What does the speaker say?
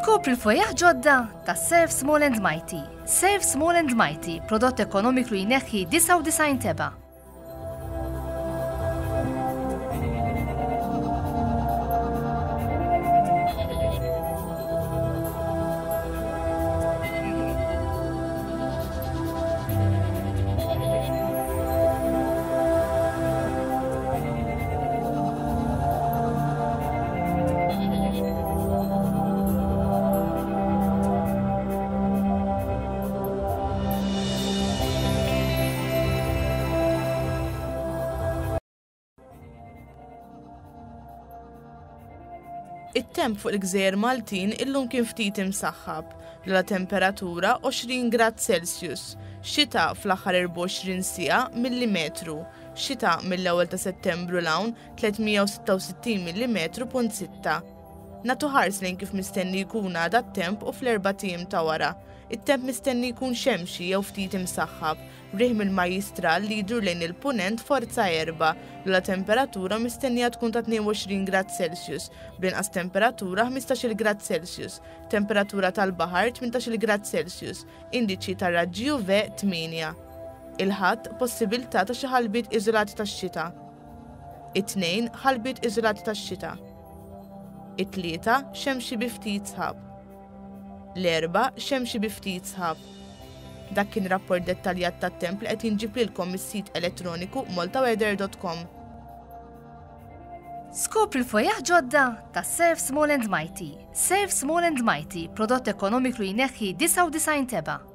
Skopri l-fwejjaħ ġodda ta' Serve Small and Mighty. Serve Small and Mighty, prodott ekonomiku jneħħi 99 teba'. It-temp fuq il-gżejjer Maltin illum kien ftit imsaħħab, l temperatura 20 grad Celsius, xita fl-aħħar 24 siegħa millimetru, xita mill-ewwel ta' Settembru 'l hawn 366 millimetru punt sitta. Nagħtu ħars lejn kif mistenni jkun għada t-temp u fl-erbat ijiem ta' wara. It-temp mistenni jkun xemxi jew ftit imsaħħab, b'riħ mill-Majjistral li jdur lejn il-Punent forza erbgħa, l-ogħla temperatura mistennija tkun ta' 22 grad Celsius, bl-inqas temperatura 15-il grad Celsius, temperatura tal-baħar 18-il grad Celsius, Indiċi tar-raġġi UV 8. Il-Ħadd, possibilità ta' xi ħalbiet iżolati tax-xita. It-Tnejn, ħalbiet iżolati tax-xita. It-Tlieta, xemxi bi ftit sħab. L-Erbgħa, xemxi bi ftit sħab. Dak kien rapport dettaljat tat-temp li qed jinġib lilkom mis-sit elettroniku maltaweather.com. Skopri l-fwejjaħ ġodda ta' Serve Small and Mighty. Serve Small and Mighty, prodott ekonomiku jneħħi 99 tebgħa.